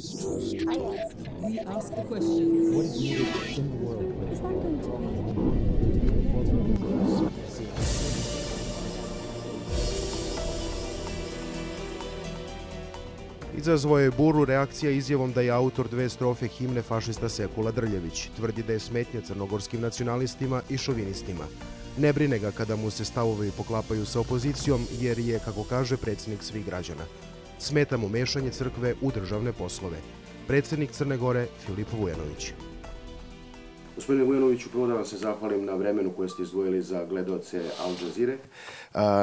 story. We ask the questions. What is needed in the world? Is that going to Izazvao je buru reakcija izjavom da je autor dve strofe himne fašista Sekula Drljević. Tvrdi da je smetnja crnogorskim nacionalistima i šovinistima. Ne brine ga kada mu se stavovi poklapaju sa opozicijom, jer je, kako kaže, predsjednik svih građana. Smeta mu mešanje crkve u državne poslove. Predsjednik Crne Gore Filip Vujanović. Gospodine Vujanoviću, prvo da vam se zahvalim na vremenu koje ste izdvojili za gledaoce Al Jazeere.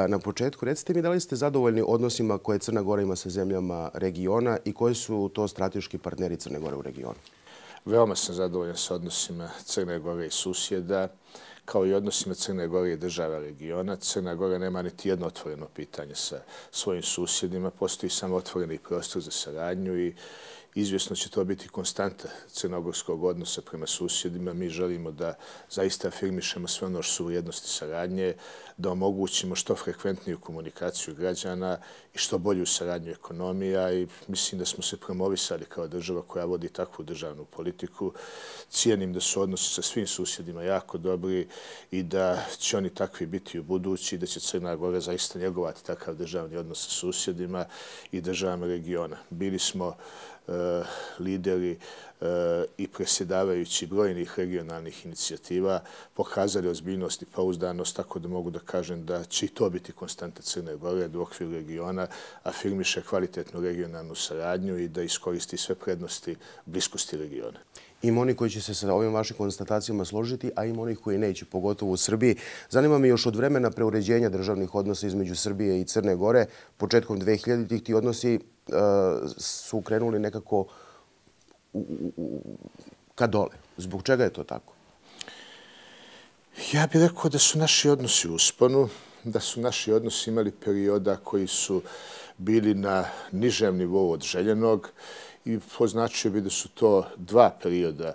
Na početku, recite mi da li ste zadovoljni odnosima koje Crna Gora ima sa zemljama regiona i koji su to strateški partneri Crne Gore u regionu? Veoma sam zadovoljan sa odnosima Crne Gore i susjeda, kao i odnosima Crne Gore i država regiona. Crna Gora nema niti jedno otvoreno pitanje sa svojim susjedima. Postoji samo otvoreni prostor za saradnju i izvjesno će to biti konstanta crnogorskog odnosa prema susjedima. Mi želimo da zaista afirmišemo sve ono što su vrijednosti saradnje, da omogućimo što frekventniju komunikaciju građana i što bolju saradnju ekonomija i mislim da smo se promovisali kao država koja vodi takvu državnu politiku. Cijenim da su odnosi sa svim susjedima jako dobri i da će oni takvi biti u budući i da će Crna Gora zaista njegovati takav državni odnos sa susjedima i državama regiona. Bili smo lideri i predsjedavajući brojnih regionalnih inicijativa pokazali ozbiljnost i pouzdanost, tako da mogu da kažem da će i to biti konstanta Crne Gore, da u okviru regiona afirmiše kvalitetnu regionalnu saradnju i da iskoristi sve prednosti bliskosti regiona. Ima oni koji će se sa ovim vašim konstatacijama složiti, a ima onih koji neće, pogotovo u Srbiji. Zanima me još od vremena preuređenja državnih odnosa između Srbije i Crne Gore, početkom 2000-ih ti odnosi su krenuli nekako ka dole. Zbog čega je to tako? Ja bih rekao da su naši odnosi u usponu, da su naši odnosi imali perioda koji su bili na nižem nivou od željenog i označio bi da su to dva perioda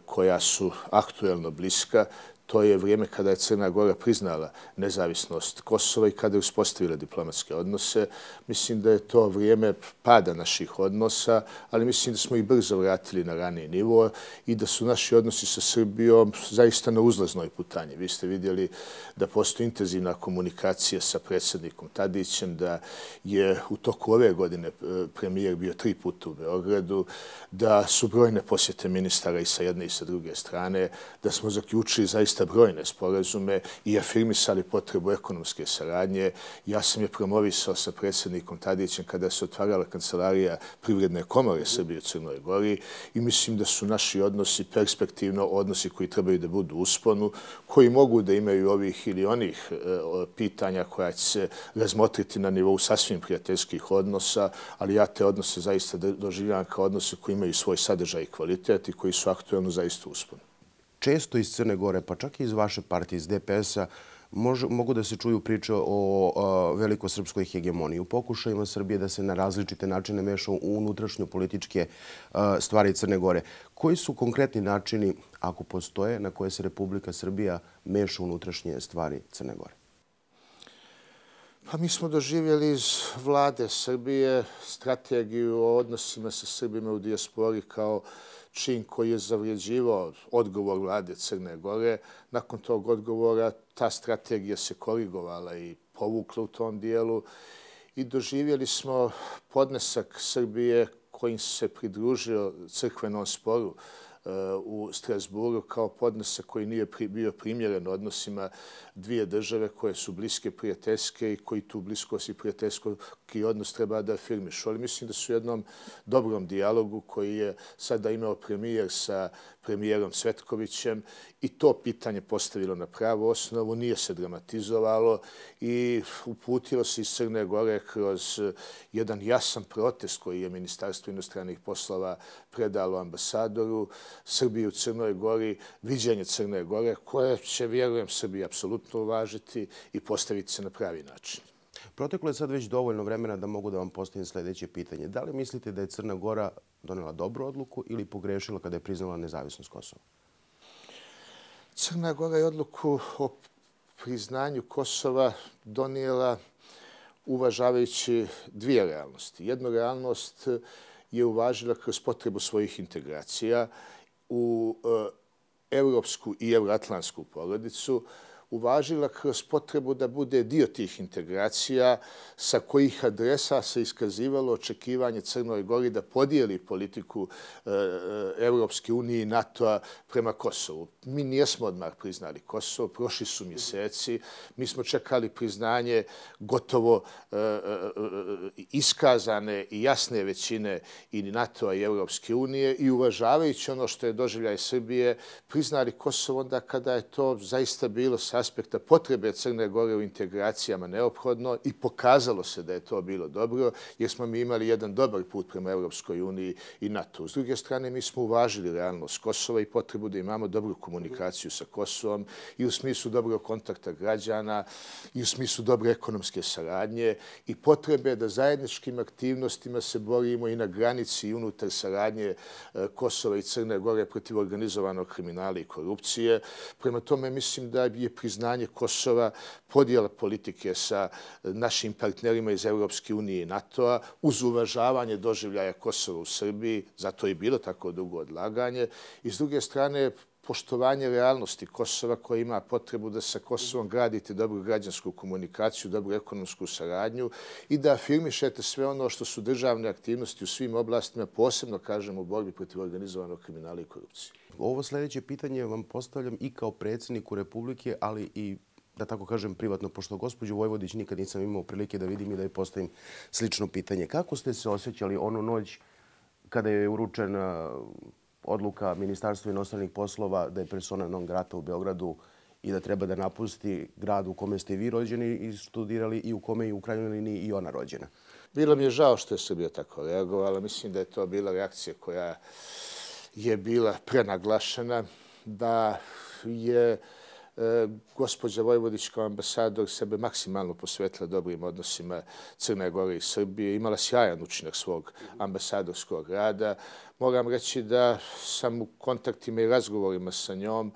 koja su aktuelno bliska. To je vrijeme kada je Crna Gora priznala nezavisnost Kosova i kada je uspostavila diplomatske odnose. Mislim da je to vrijeme pada naših odnosa, ali mislim da smo ih brzo vratili na raniji nivo i da su naši odnosi sa Srbijom zaista na uzlaznoj putanji. Vi ste vidjeli da postoji intenzivna komunikacija sa predsjednikom Tadićem, da je u toku ove godine premijer bio 3 puta u Beogradu, da su brojne posjete ministara i sa jedne i sa druge strane, da smo zaključili zaista brojne sporazume i afirmisali potrebu ekonomske saradnje. Ja sam je promovisao sa predsjednikom Tadićem kada se otvarala kancelarija Privredne komore Srbije u Crnoj Gori i mislim da su naši odnosi perspektivno odnosi koji trebaju da budu u usponu, koji mogu da imaju ovih ili onih pitanja koja će se razmotriti na nivou sasvim prijateljskih odnosa, ali ja te odnose zaista doživljavam kao odnose koji imaju svoj sadržaj i kvalitet i koji su aktuelno zaista u usponu. Često iz Crne Gore, pa čak i iz vaše partije, iz DPS-a, mogu da se čuju priče o velikosrpskoj hegemoniji, u pokušajima Srbije da se na različite načine meša u unutrašnjo političke stvari Crne Gore. Koji su konkretni načini, ako postoje, na koje se Republika Srbija meša u unutrašnje stvari Crne Gore? Pa mi smo doživjeli iz vlade Srbije strategiju o odnosima sa Srbima u dijaspori kao čin koji je zavrijeđivao odgovor vlade Crne Gore. Nakon tog odgovora ta strategija se korigovala i povukla u tom dijelu i doživjeli smo podnesak Srbije kojim se pridružio crkvenom sporu u Strasburu kao podnesak koji nije bio primjeren odnosima dvije države koje su bliske prijateljske i koji tu bliskost i prijateljski odnos treba da afirmišu. Ali mislim da su u jednom dobrom dijalogu koji je sada imao premijer sa premijerom Cvetkovićem i to pitanje postavilo na pravu osnovu, nije se dramatizovalo i uputilo se iz Crne Gore kroz jedan jasan protest koji je Ministarstvo inostranih poslova predalo ambasadoru Srbije u Crnoj Gori, viđenje Crne Gore koje će, vjerujem, Srbija apsolutno uvažiti i postaviti se na pravi način. Proteklo je sad već dovoljno vremena da mogu da vam postavim sljedeće pitanje. Da li mislite da je Crna Gora donela dobru odluku ili pogrešila kada je priznala nezavisnost Kosova? Crna Gora je odluku o priznanju Kosova donijela uvažavajući dvije realnosti. Jedna realnost je uvažila kroz potrebu svojih integracija u evropsku i euroatlantsku porodicu, uvažila kroz potrebu da bude dio tih integracija sa kojih adresa se iskazivalo očekivanje Crnoj Gori da podijeli politiku Evropske unije i NATO-a prema Kosovu. Mi nijesmo odmah priznali Kosovo, prošli su mjeseci, mi smo čekali priznanje gotovo iskazane i jasne većine i NATO-a i Evropske unije i uvažavajući ono što je doživljaj Srbije, priznali Kosovo onda kada je to zaista bilo sa aspekta potrebe Crne Gore u integracijama neophodno i pokazalo se da je to bilo dobro jer smo mi imali jedan dobar put prema Evropskoj uniji i NATO. S druge strane, mi smo uvažili realnost Kosova i potrebu da imamo dobru komunikaciju sa Kosovom i u smislu dobrog kontakta građana i u smislu dobre ekonomske saradnje i potrebe da zajedničkim aktivnostima se borimo i na granici i unutar saradnje Kosova i Crne Gore protiv organizovanog kriminala i korupcije. Prema tome, mislim da je priznanje Kosova podijela politike sa našim partnerima iz Evropske unije i NATO-a uz uvažavanje doživljaja Kosova u Srbiji, zato je bilo tako dugo odlaganje. I s druge strane, poštovanje realnosti Kosova koja ima potrebu da sa Kosovom gradite dobru građansku komunikaciju, dobru ekonomsku saradnju i da afirmišete sve ono što su državne aktivnosti u svim oblastima, posebno, kažem, u borbi protiv organizovanog kriminala i korupcije. Ovo sljedeće pitanje vam postavljam i kao predsjedniku Republike, ali i, da tako kažem, privatno, pošto gospođu Vojvodić nikad nisam imao prilike da vidim i da joj postavim slično pitanje. Kako ste se osjećali onu noć kada je uručena odluka Ministarstva inostranih poslova da je persona non grata u Beogradu i da treba da napusti grad u kome ste vi rođeni i studirali i u kome je u krajnjoj liniji i ona rođena? Bilo mi je žao što je Srbija tako reagovala. Mislim da je to bila reakcija koja je bila prenaglašena, da je gospođa Vojvodić kao ambasador sebe maksimalno posvetila dobrim odnosima Crne Gore i Srbije. Imala sjajan učinak svog ambasadorskog rada. Moram reći da sam u kontaktima i razgovorima sa njom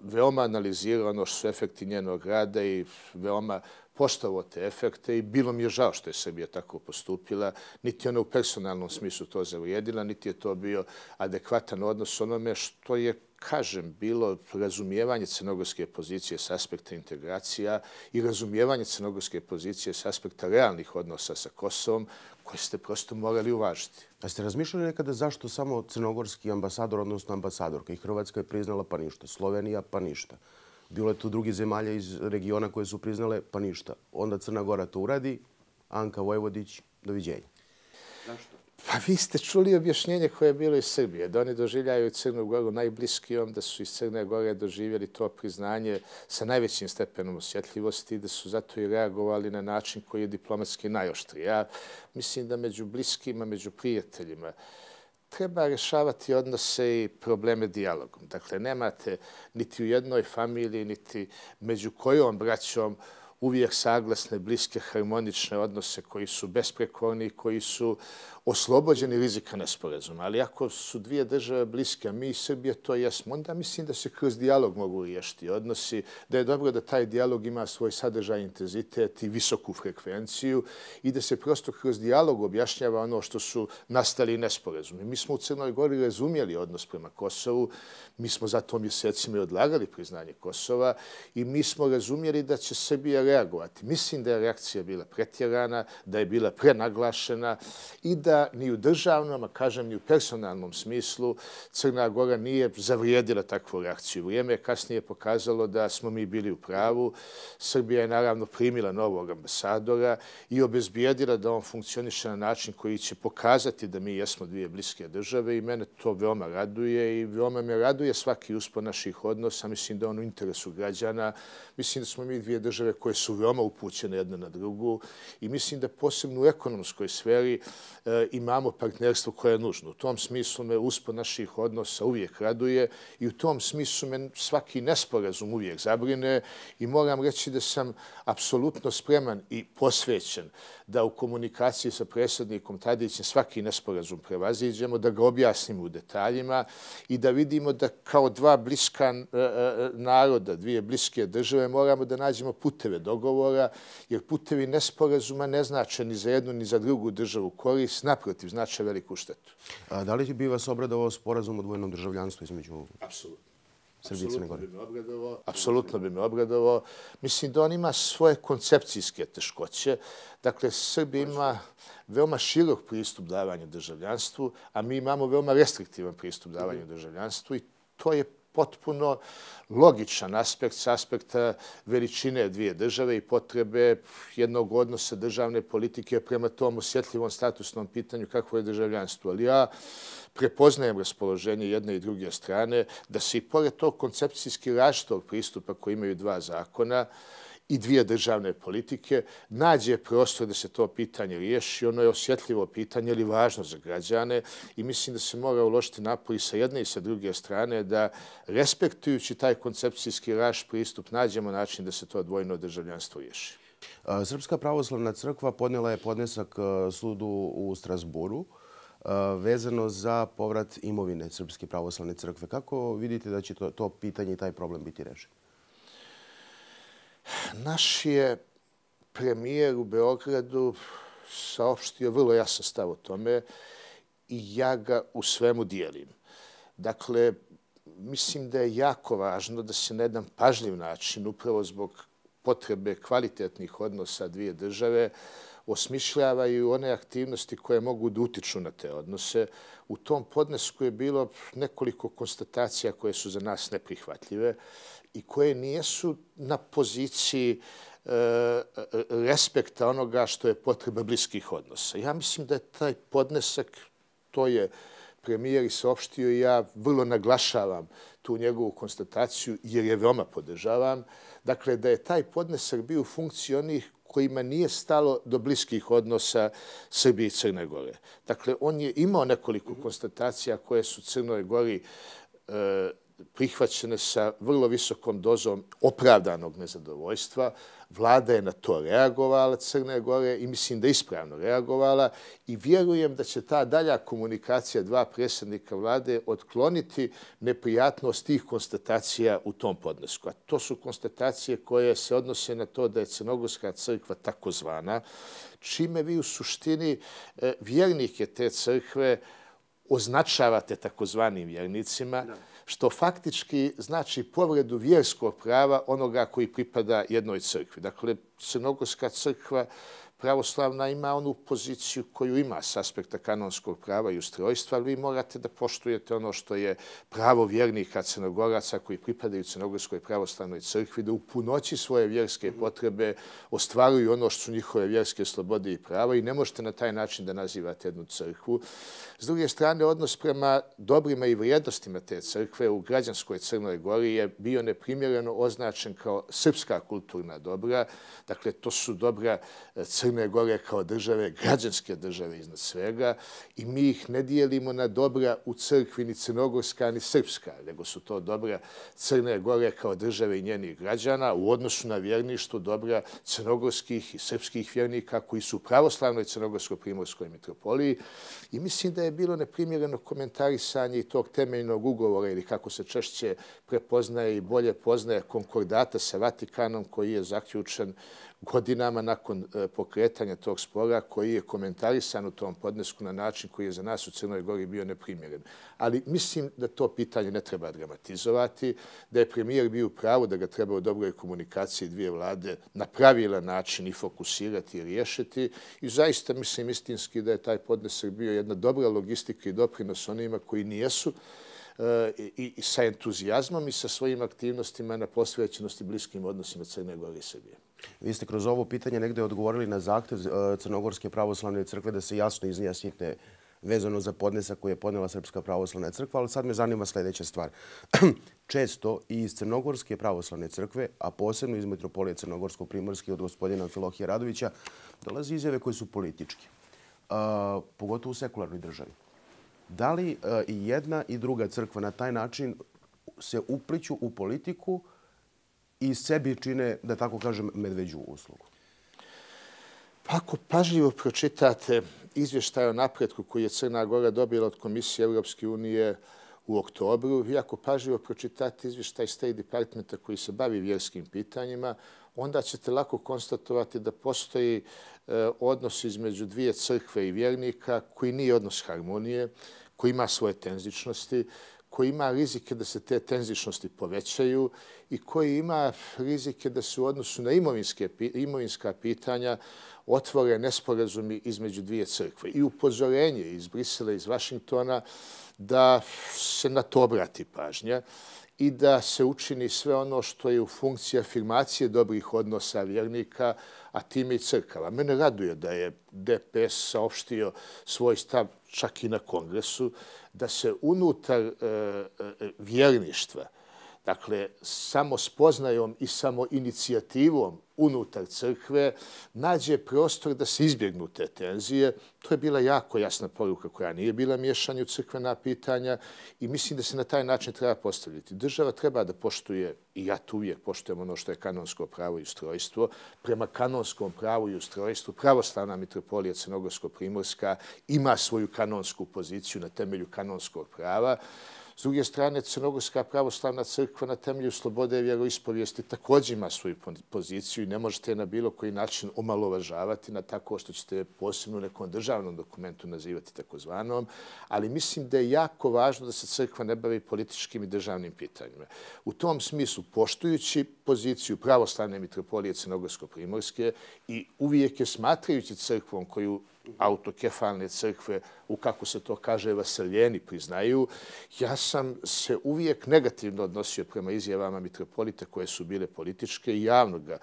veoma analizirao ono što su efekti njenog rada i veoma poštovao te efekte i bilo mi je žao što je Srbija tako postupila. Niti ona u personalnom smislu to zavrijedila, niti je to bio adekvatan odnos onome što je, kažem, bilo razumijevanje crnogorske pozicije s aspekta integracija i razumijevanje crnogorske pozicije s aspekta realnih odnosa sa Kosovom koje ste prosto morali uvažiti. A ste razmišljali nekada zašto samo crnogorski ambasador, odnosno ambasadorka? I Hrvatska je priznala pa ništa, Slovenija pa ništa. Bilo je tu drugih zemalja iz regiona koje su priznale pa ništa. Onda Crna Gora to uradi, Anka Vojvodić, doviđenja. Zašto? Pa vi ste čuli objašnjenje koje je bilo iz Srbije, da oni doživljaju Crnu Goru najbliskijom, da su iz Crne Gore doživjeli to priznanje sa najvećim stepenom osjetljivosti i da su zato i reagovali na način koji je diplomatski najoštriji. Ja mislim da među bliskima, među prijateljima treba rješavati odnose i probleme dijalogom. Dakle, nemate niti u jednoj familiji, niti među kojom braćom uvijek saglasne, bliske, harmonične odnose koji su besprekorni, koji su oslobođeni rizika nesporazuma. Ali ako su dvije države bliske, a mi i Srbija to jesmo, onda mislim da se kroz dijalog mogu riješiti odnosi, da je dobro da taj dijalog ima svoj sadržaj, intenzitet i visoku frekvenciju i da se prosto kroz dijalog objašnjava ono što su nastali nesporazumi. Mi smo u Crnoj Gori razumjeli odnos prema Kosovu, mi smo zato mjesecima i odlagali priznanje Kosova i mi smo razumjeli da će Srbija reagovati. Mislim da je reakcija bila pretjerana, da je bila prenaglašena i da ni u državnom, a kažem ni u personalnom smislu, Crna Gora nije zavrijedila takvu reakciju. Vrijeme je kasnije pokazalo da smo mi bili u pravu. Srbija je naravno primila novog ambasadora i obezbijedila da on funkcioniše na način koji će pokazati da mi jesmo dvije bliske države i mene to veoma raduje i veoma me raduje svaki uspon naših odnosa. Mislim da on u interesu građana. Mislim da smo mi dvije države koje su veoma upućene jedna na drugu i mislim da posebno u ekonomskoj sferi imamo partnerstvo koje je nužno. U tom smislu me uspon naših odnosa uvijek raduje i u tom smislu me svaki nesporazum uvijek zabrine i moram reći da sam apsolutno spreman i posvećen da u komunikaciji sa predsjednikom Tadićem svaki nesporazum prevaziđemo, da ga objasnimo u detaljima i da vidimo da kao dva bliska naroda, dvije bliske države moramo da nađemo puteve dogovora, jer putevi nesporazuma ne znače ni za jednu ni za drugu državu korist. naprotiv, znače veliku štetu. Da li bi vas obradovao sporazum o dvojnom državljanstvu između Apsolutno. Srbije i Crne Gore? Apsolutno bi me obradovao. Mislim da on ima svoje koncepcijske teškoće. Dakle, Srbija ima veoma širok pristup davanju državljanstvu, a mi imamo veoma restriktivan pristup davanju državljanstvu i to je potpuno logičan aspekt s aspekta veličine dvije države i potrebe jednog odnosa državne politike prema tom osjetljivom statusnom pitanju kakvo je državljanstvo. Ali ja prepoznajem raspoloženje jedne i druge strane da se i pored tog koncepcijski različitog pristupa koji imaju dva zakona i dvije državne politike nađe prostor da se to pitanje riješi. Ono je osjetljivo pitanje, ali važno za građane i mislim da se mora uložiti napor i sa jedne i sa druge strane da respektujući taj koncepcijski različit pristup nađemo način da se to dvojno državljanstvo riješi. Srpska pravoslavna crkva podnijela je podnesak sudu u Strasburu vezano za povrat imovine Srpske pravoslavne crkve. Kako vidite da će to pitanje i taj problem biti rešen? Naš je premijer u Beogradu saopštio vrlo jasan stav o tome i ja ga u svemu dijelim. Dakle, mislim da je jako važno da se na jedan pažljiv način, upravo zbog potrebe kvalitetnih odnosa dvije države, osmišljavaju one aktivnosti koje mogu da utiču na te odnose. U tom podnesku je bilo nekoliko konstatacija koje su za nas neprihvatljive i koje nijesu na poziciji respekta onoga što je potreba bliskih odnosa. Ja mislim da je taj podnesak, to je premijer i saopštio i ja vrlo naglašavam tu njegovu konstataciju jer je veoma podržavam. Dakle, da je taj podnesak bio u funkciji onih kojima nije stalo do bliskih odnosa Srbije i Crne Gore. Dakle, on je imao nekoliko konstatacija koje su Crnoj Gori prihvaćene sa vrlo visokom dozom opravdanog nezadovoljstva. Vlada je na to reagovala Crne Gore i mislim da je ispravno reagovala i vjerujem da će ta dalja komunikacija dva predsjednika vlade otkloniti neprijatnost tih konstatacija u tom podnesku. A to su konstatacije koje se odnose na to da je Crnogorska crkva takozvana, čime vi u suštini vjernike te crkve označavate takozvanim vjernicima, što faktički znači povredu vjerskog prava onoga koji pripada jednoj crkvi. Dakle, Crnogorska crkva pravoslavna ima onu poziciju koju ima s aspekta kanonskog prava i ustrojstva, ali vi morate da poštujete ono što je pravo vjernika Crnogoraca koji pripadaju Crnogorskoj pravoslavnoj crkvi, da u punoći svoje vjerske potrebe ostvaruju ono što su njihove vjerske slobode i prava i ne možete na taj način da nazivate jednu crkvu. S druge strane, odnos prema dobrima i vrijednostima te crkve u građanskoj Crnoj Gori je bio neprimjereno označen kao srpska kulturna dobra. Dakle, to su dobra Crne Gore kao države, građanske države iznad svega i mi ih ne dijelimo na dobra u crkvi ni crnogorska ni srpska, nego su to dobra Crne Gore kao države i njenih građana u odnosu na vjerništvo dobra crnogorskih i srpskih vjernika koji su u pravoslavnoj crnogorsko-primorskoj mitropoliji i mislim da je bilo neprimjereno komentarisanje i tog temeljnog ugovora ili kako se češće prepoznaje i bolje poznaje konkordata sa Vatikanom koji je zaključen godinama nakon pokretanja tog spora koji je komentarisan u tom podnesku na način koji je za nas u Crnoj Gori bio neprimjeren. Ali mislim da to pitanje ne treba dramatizovati, da je premijer bio u pravu da ga treba u dobroj komunikaciji dvije vlade na pravilan način i fokusirati i riješiti. I zaista mislim istinski da je taj podnesak bio jedna dobra logistika i doprinos onima koji nijesu i sa entuzijazmom i sa svojim aktivnostima na posvećenosti bliskim odnosima Crne Gore i Srbije. Vi ste kroz ovo pitanje negde odgovorili na zahtev Crnogorske pravoslavne crkve da se jasno izjasnite vezano za podnesak koji je podnela Srpska pravoslavna crkva, ali sad me zanima sljedeća stvar. Često i iz Crnogorske pravoslavne crkve, a posebno iz Mitropolije Crnogorsko-primorske od gospodina Amfilohija Radovića, dolaze izjave koje su političke, pogotovo u sekularnoj državi. Da li i jedna i druga crkva na taj način se upliću u politiku i sebi čine, da tako kažem, medveđu uslugu? Pa ako pažljivo pročitate izvještaj o napretku koji je Crna Gora dobila od Komisije Europske unije u oktobru. Vi ako pažljivo pročitate izvještaj State Departmenta koji se bavi vjerskim pitanjima, onda ćete lako konstatovati da postoji odnos između dvije crkve i vjernika koji nije odnos harmonije, koji ima svoje tenzičnosti, koji ima rizike da se te tenzičnosti povećaju i koji ima rizike da se u odnosu na imovinska pitanja otvore nesporazumi između dvije crkve. I upozorenje iz Brisela, iz Vašingtona, da se na to obrati pažnja i da se učini sve ono što je u funkciji afirmacije dobrih odnosa vjernika, a time i crkava. Mene raduje da je DPS saopštio svoj stav čak i na kongresu, da se unutar vjerništva, dakle, samo spoznajom i samo inicijativom unutar crkve nađe prostor da se izbjegnu te tenzije. To je bila jako jasna poruka koja nije bila miješanje u crkvena pitanja i mislim da se na taj način treba postaviti. Država treba da poštuje, i ja tu uvijek poštujem ono što je kanonsko pravo i ustrojstvo. Prema kanonskom pravu i ustrojstvu Pravoslavna mitropolija Crnogorsko-Primorska ima svoju kanonsku poziciju na temelju kanonskog prava. S druge strane, Crnogorska pravoslavna crkva na temelju slobode vjeroispovijesti također ima svoju poziciju i ne možete je na bilo koji način omalovažavati na tako što ćete posebno u nekom državnom dokumentu nazivati takozvanom, ali mislim da je jako važno da se crkva ne bavi političkim i državnim pitanjima. U tom smislu, poštujući poziciju Pravoslavne mitropolije Crnogorsko-Primorske i uvijek je smatrajući crkvom koju autokefalne crkve, u kako se to kaže, vaseljeni priznaju, ja sam se uvijek negativno odnosio prema izjavama mitropolita koje su bile političke i javno ga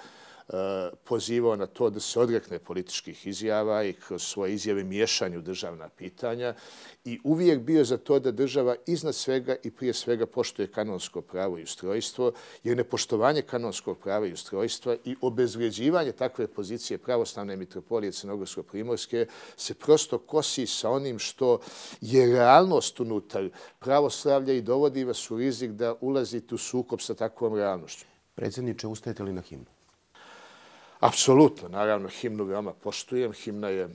pozivao na to da se odrekne političkih izjava i kroz svoje izjave miješanju državna pitanja i uvijek bio za to da država iznad svega i prije svega poštuje kanonsko pravo i ustrojstvo, jer nepoštovanje kanonskog prava i ustrojstva i obezvrijeđivanje takve pozicije Pravoslavne mitropolije Crnogorsko-Primorske se prosto kosi sa onim što je realnost unutar pravoslavlja i dovodi vas u rizik da ulazite u sukob sa takvom realnošću. Predsjedniče, ustajete li na himnu? Apsolutno, naravno, himnu veoma poštujem. Himna je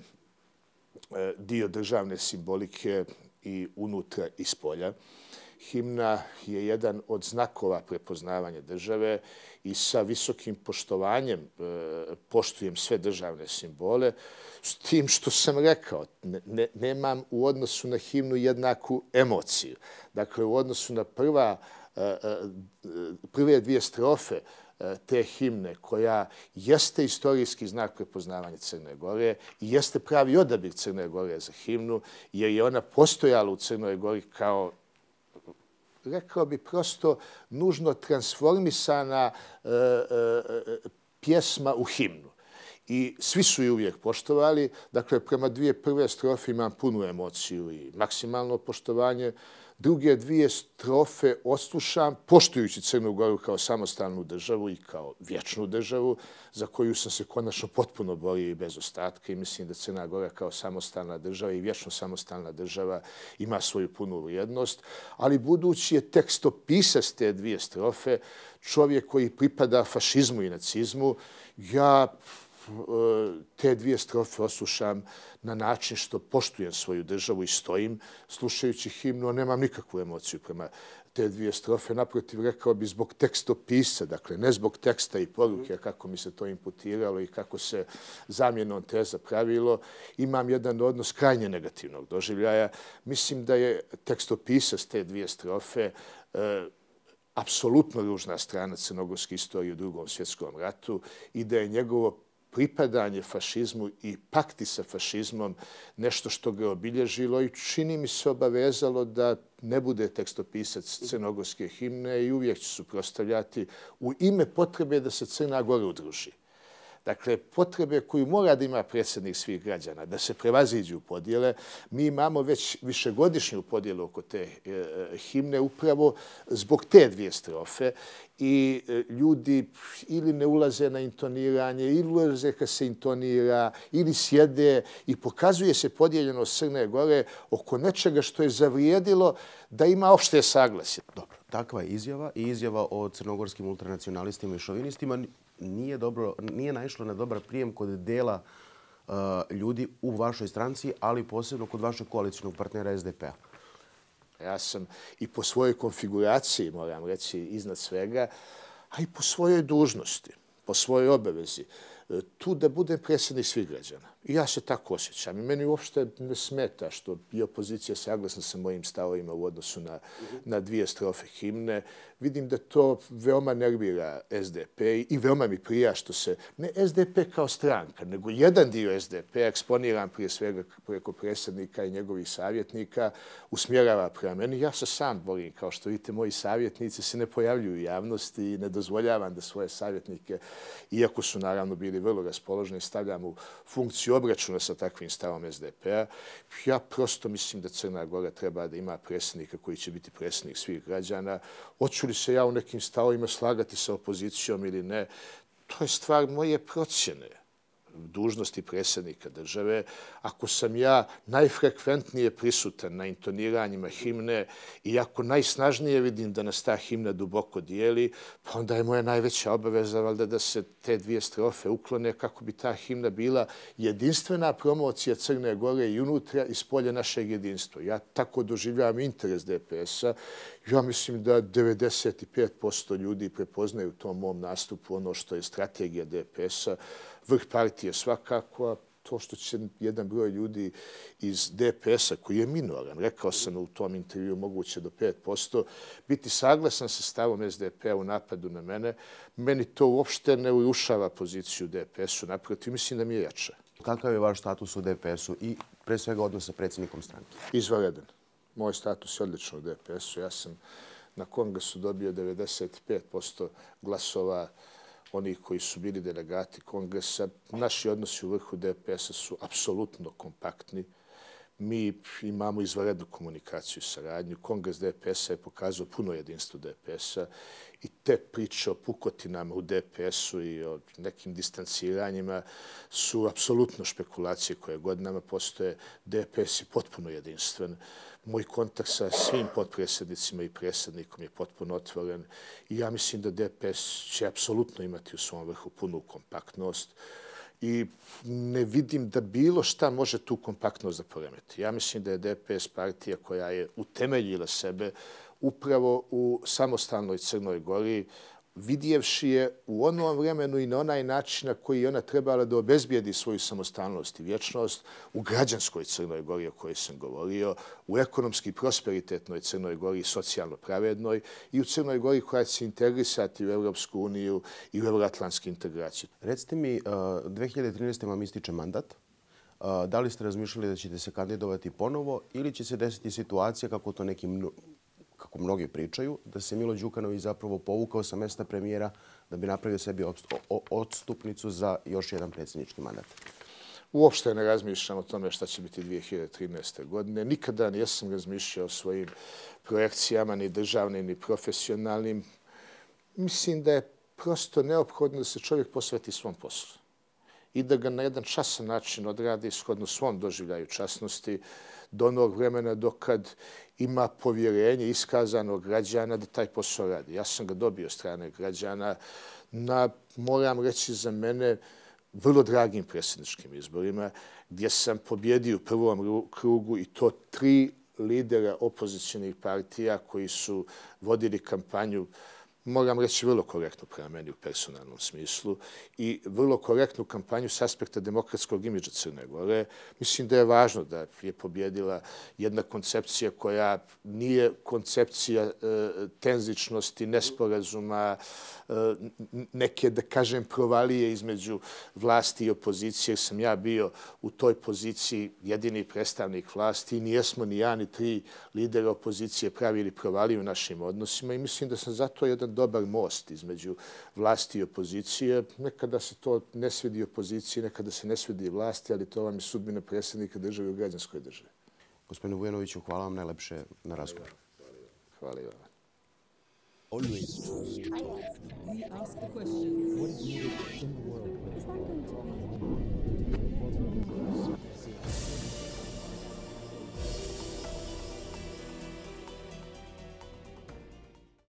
dio državne simbolike i unutra i spolja. Himna je jedan od znakova prepoznavanja države i sa visokim poštovanjem poštujem sve državne simbole, s tim što sam rekao, nemam u odnosu na himnu jednaku emociju. Dakle, u odnosu na prve dvije strofe te himne, koja jeste istorijski znak prepoznavanja Crne Gore i jeste pravi odabir Crne Gore za himnu, jer je ona postojala u Crnoj Gori kao, rekao bi prosto, nužno transformisana pjesma u himnu. I svi su ju uvijek poštovali. Dakle, prema dvije prve strofe imam punu emociju i maksimalno poštovanje. Druge dvije strofe odslušam, poštujući Crnu Goru kao samostalnu državu i kao vječnu državu, za koju sam se konačno potpuno borio i bez ostatka. I mislim da Crna Gora kao samostalna država i vječno samostalna država ima svoju punu vrijednost. Ali budući je tekstopisac te dvije strofe, čovjek koji pripada fašizmu i nacizmu, ja te dvije strofe oslušam na način što poštujem svoju državu i stojim slušajući himnu, a nemam nikakvu emociju prema te dvije strofe. Naprotiv, rekao bi zbog tekstopisa, dakle ne zbog teksta i poruke, kako mi se to imputiralo i kako se zamjenom teza pravilo, imam jedan odnos krajnje negativnog doživljaja. Mislim da je tekstopisac te dvije strofe apsolutno ružna strana crnogorske istorije u Drugom svjetskom ratu i da je njegovo pripadanje fašizmu i pakti sa fašizmom nešto što ga obilježilo i čini mi se obavezalo da ne bude tekstopisac crnogorske himne i uvijek će suprotstavljati u ime potrebe da se Crna Gora udruži. Dakle, potrebe koju mora da ima predsjednik svih građana, da se prevaziđu podjele. Mi imamo već višegodišnju podjelu oko te himne upravo zbog te dvije strofe i ljudi ili ne ulaze na intoniranje, ili ulaze kad se intonira, ili sjede i pokazuje se podijeljenost Crne Gore oko nečega što je zavrijedilo da ima opšte saglasje. Dobro, takva je izjava i izjava o crnogorskim ultranacionalistima i šovinistima nije naišlo na dobar prijem kod dela ljudi u vašoj stranci, ali posebno kod vašeg koalicijnog partnera SDP-a. Ja sam i po svojoj konfiguraciji, moram reći, iznad svega, a i po svojoj dužnosti, po svojoj obavezi, tu da budem predsjednik svih građana. I ja se tako osjećam. I meni uopšte ne smeta što je opozicija saglasna sa mojim stavovima u odnosu na dvije strofe himne. Vidim da to veoma nervira SDP i veoma mi prija što se, ne SDP kao stranka, nego jedan dio SDP, eksponiran prije svega preko predsjednika i njegovih savjetnika, usmjerava prema meni. Ja se sam borim, kao što vidite, moji savjetnici se ne pojavljuju u javnosti i ne dozvoljavam da svoje savjetnike, iako su naravno bili vrlo raspoloženi, stavljam u funkciju obračuna sa takvim stavom SDP-a. Ja prosto mislim da Crna Gora treba da ima predsjednika koji će biti predsjednik svih građana. Hoću li se ja u nekim stavovima slagati sa opozicijom ili ne, to je stvar moje procjene dužnosti predsjednika države. Ako sam ja najfrekventnije prisutan na intoniranjima himne i ako najsnažnije vidim da nas ta himna duboko dijeli, pa onda je moja najveća obaveza valjda da se te dvije strofe uklone kako bi ta himna bila jedinstvena promocija Crne Gore i unutra i spolja našeg jedinstva. Ja tako doživljavam interes DPS-a. Ja mislim da 95% ljudi prepoznaju u tom mom nastupu ono što je strategija DPS-a, vrh partije svakako, a to što će jedan broj ljudi iz DPS-a, koji je minoran, rekao sam u tom intervju moguće do 5%, biti saglasan sa stavom SDP-a u napadu na mene, meni to uopšte ne urušava poziciju DPS-u, naprotiv, mislim da mi je jača. Kakav je vaš status u DPS-u i pre svega odnos sa predsjednikom stranke? Izvanredan. Moj status je odlično u DPS-u. Ja sam na kongresu dobio 95% glasova onih koji su bili delegati kongresa. Naši odnosi u vrhu DPS-a su apsolutno kompaktni. Mi imamo izvanrednu komunikaciju i saradnju. Kongres DPS-a je pokazao puno jedinstvo DPS-a i te priče o pukotinama u DPS-u i o nekim distanciranjima su apsolutno špekulacije koje godinama postoje. DPS je potpuno jedinstven. Moj kontakt sa svim potpredsjednicima i predsjednikom je potpuno otvoren i ja mislim da DPS će apsolutno imati u svom vrhu punu kompaktnost i ne vidim da bilo šta može tu kompaktnost da poremeti. Ja mislim da je DPS partija koja je utemeljila sebe upravo u samostalnoj Crnoj Gori, vidjevši je u onom vremenu i na onaj način na koji je ona trebala da obezbijedi svoju samostalnost i vječnost u građanskoj Crnoj Gori o kojoj sam govorio, u ekonomski prosperitetnoj Crnoj Gori i socijalno pravednoj i u Crnoj Gori koja će se integrisati u Europsku uniju i u euroatlantske integracije. Recite mi, 2013. vam ističe mandat. Da li ste razmišljali da ćete se kandidovati ponovo ili će se desiti situacija kako to kako mnogi pričaju, da se Milo Đukanović zapravo povukao sa mesta premijera da bi napravio sebi odstupnicu za još jedan predsjednički mandat? Uopšte ne razmišljam o tome šta će biti 2013. godine. Nikada nisam razmišljao o svojim projekcijama, ni državnim, ni profesionalnim. Mislim da je prosto neophodno da se čovjek posveti svom poslu i da ga na jedan časan način odradi shodno svom doživljaju časnosti do onog vremena dokad ima povjerenje iskazanog građana da taj posao radi. Ja sam ga dobio strane građana na, moram reći za mene, vrlo dragim predsjedničkim izborima, gdje sam pobjedio u prvom krugu i to 3 lidera opozicionih partija koji su vodili kampanju, moram reći, vrlo korektno prema meni u personalnom smislu i vrlo korektnu kampanju s aspekta demokratskog imidža Crne Gore. Mislim da je važno da je pobjedila jedna koncepcija koja nije koncepcija tenzičnosti, nesporazuma, neke, da kažem, provalije između vlasti i opozicije, jer sam ja bio u toj poziciji jedini predstavnik vlasti i nijesmo ni ja ni 3 lidera opozicije pravili provaliju u našim odnosima i mislim da sam zato jedan dobar most između vlasti i opozicije. Nekada se to ne svidi opoziciji, nekada se ne svidi vlasti, ali to vam je sudbina predsjednika države u građanskoj državi. Gospodine Vujanoviću, hvala vam najlepše na razgovor. Hvala i vam. Always choose your talk. We ask the questions. What is needed in the world? Is that going to be